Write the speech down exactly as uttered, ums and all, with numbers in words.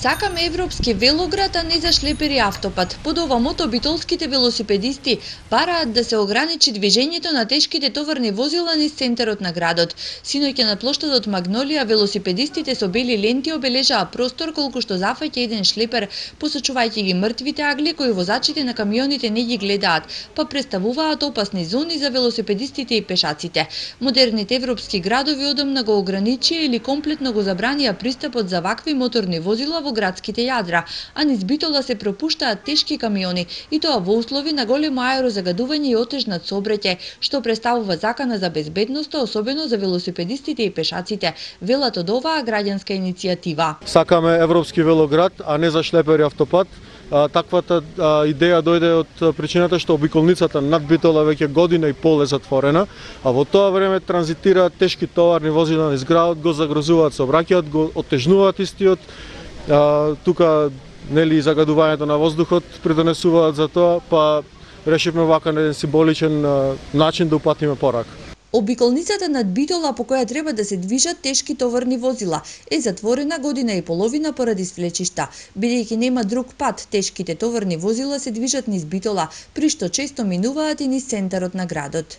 Сакаме европски велоград, а не за шлепери автопат. Под ова мото битолските велосипедисти бараат да се ограничи движењето на тешките товарни возила низ центарот на градот. Синоќа на плоштадот Магнолија велосипедистите со бели ленти обележаа простор колку што зафаќа еден шлепер, посочувајќи ги мртвите агли кои возачите на камионите не ги гледаат, па представуваат опасни зони за велосипедистите и пешаците. Модерните европски градови одамна го ограничија или комплетно го забранија пристапот за вакви моторни возила во градските јадра, а низ Битола се пропуштаат тешки камиони, и тоа во услови на големо аерозагадување и отежнат сообраќај, што представува закана за безбедноста, особено за велосипедистите и пешаците, велат од оваа граѓанска иницијатива. Сакаме европски велоград, а не за шлепери автопат. А, таквата а, идеја дојде од причината што обиколницата над Битола веќе година и пол е затворена, а во тоа време транзитираат тешки товарни возила низ градот, го загрозуваат сообраќајот, го отежнуваат истиот. А, тука нели загадувањето на воздухот придонесуваат за тоа, па решивме вака на еден символичен а, начин да упатиме порака. Обиколницата над Битола, по која треба да се движат тешки товарни возила, е затворена година и половина поради свлечишта. Бидејќи нема друг пат, тешките товарни возила се движат низ Битола, при што често минуваат и низ центарот на градот.